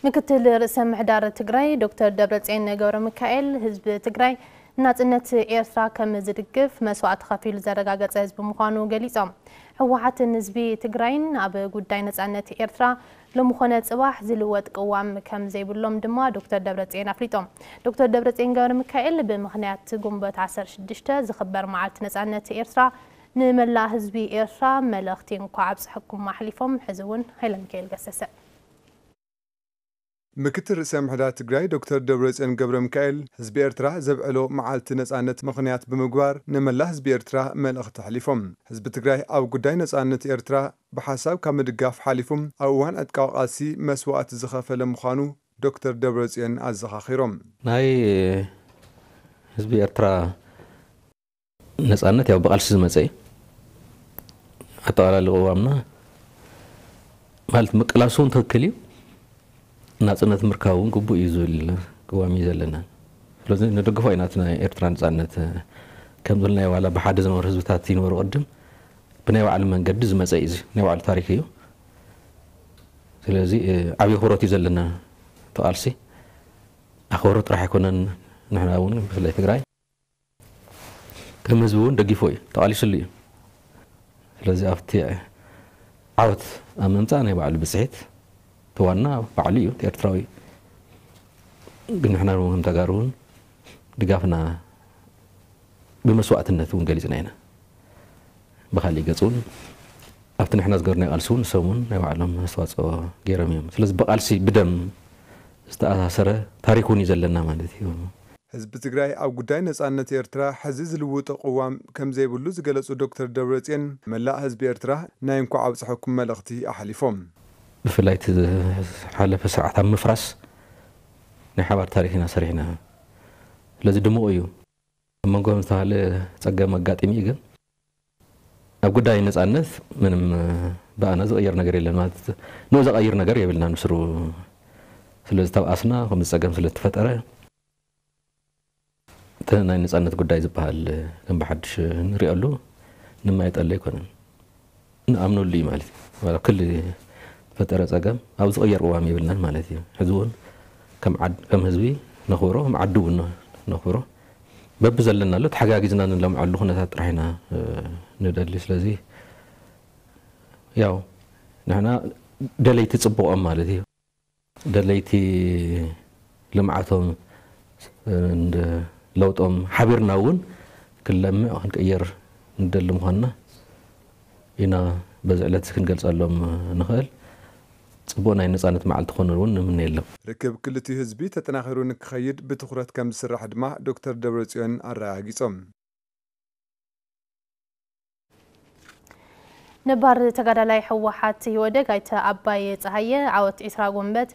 ምክትል ርእሰ ምሕዳር ትግራይ ዶክተር ደብረጽዮን ገብረ ሚካኤል፣ ህዝቢ ትግራይ ናጽነት ኤርትራ ከም ዝድግፍ መስዋእቲ ከፊሉ ዘረጋገጸ ህዝቢ ምዃኑ ገሊጾም። ህወሓትን ህዝቢ ትግራይን ኣብ ጉዳይ ነጻነት ኤርትራ ሎሚ ኾነ ጽባሕ ዝልወጥ ቅዋም ከም ዘይብሎም ድማ ዶክተር ደብረጽዮን ኣፍሊጦም። ዶክተር ደብረጽዮን ገብረ ሚካኤል ብምኽንያት ጉንበት ዓሰርተ ሽዱሽተ ዝኽበር መዓልቲ ነጻነት ኤርትራ ንመላእ ህዝቢ ኤርትራ መልእኽቲ እንኳዕ ኣብጽሐኩም ኣሕሊፎም። ሕዚ እውን ሃይለ ሚካኤል ገሰሰ። ምክትል ርእሰ ምሕዳር ትግራይ ዶክተር ደብረጽዮን ገብረ ሚካኤል፣ ህዝቢ ኤርትራ ዘብዕሎ መዓልቲ ነጻነት ምኽንያት ብምግባር ንመላእ ህዝቢ ኤርትራ መልእኽቲ ኣሕሊፎም። ህዝቢ ትግራይ ኣብ ጉዳይ ነጻነት ኤርትራ ብሓሳብ ካብ ምድጋፍ ሓሊፉ ኣብ እዋን ዕጥቃዊ ቃልሲ መስዋእቲ ዝኸፈለ ምዃኑ ዶክተር ደብረጽዮን ኣዘኻኺሮም። ናይ ህዝቢ ኤርትራ ነጻነት ያው ብቃልሲ ዝመጸ እዩ። ኣጠቓላሊ ቅዋምና ማለት ምቅላሱ እውን ትኽክል እዩ። ናጽነት ምርካብ እውን ግቡእ እዩ ዝብል ቅዋም እዩ ዘለና። ስለዚ ንደግፎ ኢና። እቲ ናይ ኤርትራ ነጻነት ከም ዝበልናዮ ዋላ ብሓደ ዝነበሩ ህዝብታት ይነበሩ ቅድም ብናይ ባዕሉ መንገዲ ዝመጸ እዩ። እዚ ናይ ባዕሉ ታሪክ እዩ። ስለዚ ዓብዪ ኣኽብሮት እዩ ዘለና። እቲ ቃልሲ ኣኽብሮት ጥራሕ ኣይኮነን። ንሕና እውን ብፍላይ ትግራይ ከም ህዝቢ እውን ደጊፎ እዩ፣ ተቓሊስሉ እዩ። ስለዚ ኣብቲ ዓወት ኣብ ምምፃእ ናይ ባዕሉ ብፅሒት እቲ ዋና ባዕሉ እዩ፣ እቲ ኤርትራዊ እዩ። ግን ንሕና እውን ከም ተጋሩ እውን ድጋፍና ብመስዋእትነት እውን ገሊፅና ኢና። ብካሊእ ገፅ እውን ኣብቲ ንሕና ዝገበርናዮ ቃልሲ እውን ንሶም እውን ናይ ባዕሎም ኣስተዋፅኦ ገይሮም እዮም። ስለዚ ብቃልሲ ብደም ዝተኣሳሰረ ታሪክ እውን እዩ ዘለና ማለት እዩ። ህዝቢ ትግራይ ኣብ ጉዳይ ነጻነት ኤርትራ ሕዚ ዝልውጦ ቅዋም ከም ዘይብሉ ዝገለጹ ዶክተር ደብረጽዮን፣ መላእ ህዝቢ ኤርትራ ናይ እንኳዕ ኣብጽሐኩም መልእኽቲ ኣሕሊፎም። ብፍላይ እቲ ዝሓለፈ ስርዓት ኣብ ምፍራስ ናይ ሓባር ታሪክ ኢና ሰሪሕና። ስለዚ ድሙቕ እዩ። ኣብ መንጎ ዝተባህለ ጸገም ኣጋጢሙ እዩ፣ ግን ኣብ ጉዳይ ነጻነት ምንም ብኣና ዝቕየር ነገር የለን። ማለት ንኡ ዘቐይር ነገር የብልናን ብስሩ። ስለዚ ተብኣስና ከምዚ ጸገም ስለ ዝተፈጠረ እቲ ናይ ነጻነት ጉዳይ ዝበሃል ከም ብሓድሽ ንሪኣሉ ንማየጠሉ ኣይኮነን። ንኣምነሉ እዩ ማለት እዩ። ዋላ ክሊ ዝፈጠረ ጸገም ኣብ ዝቕየር ቅዋም የብልናን ማለት እዩ። ሕዚ እውን ከም ዓድ-፣ ከም ህዝቢ ነኽብሮ፣ ከም ዓዲ እውን ነኽብሮ። በቢ ዘለናሉ ተሓጋጊዝና ንለምዐሉ ኩነታት ጥራሕ ኢና፣ እ፣ ንደሊ። ስለዚ ያው ንሕና ደለይቲ ጽቡቖም ማለት እዩ። ደለይቲ ልምዓቶም፣ እ፣ እንደ ለውጦም ሓቢርና እውን ክንለምዕ ክንቅየር ንደሊ ምዃንና ኢና በዚ ዕለት እዚ ክንገልጸሎም ንኽእል። ጽቡቕ ናይ ነጻነት መዓልቲ ክኾነሉ እውን ንምነየሎም። ርክብ ክልቲኡ ህዝቢ ተጠናኺሩ ንክኸይድ ብትኹረት ከም ዝስራሕ ድማ ዶክተር ደብረጽዮን ኣረጋጊጾም። ነባር ተጋዳላይ ህወሓት ኢህወደግ ኣይተ ኣባይ ፀሃየ ዓወት ዒስራ ጎንበት